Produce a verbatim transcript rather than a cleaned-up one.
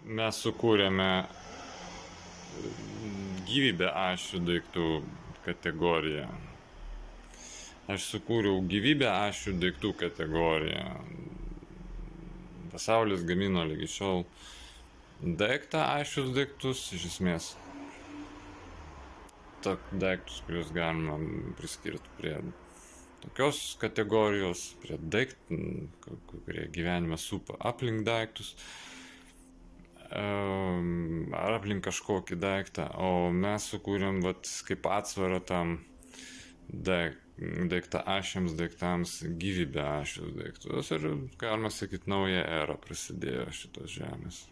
mes sukūrėme gyvybę ašių daiktų kategoriją. Aš sukūriau gyvybę ašių daiktų kategoriją. Pasaulis gamino lygi šiol daiktą ašius daiktus, iš esmės. Tok daiktus, kuriuos galima priskirti prie tokios kategorijos, prie daiktų, kurie gyvenime supa aplink daiktus, ar aplink kažkokį daiktą, o mes sukūrėm vat, kaip atsvarą tam daiktą ašiams daiktams gyvybę ašius daiktus ir, galima sakyti, nauja era prasidėjo šitos žemės.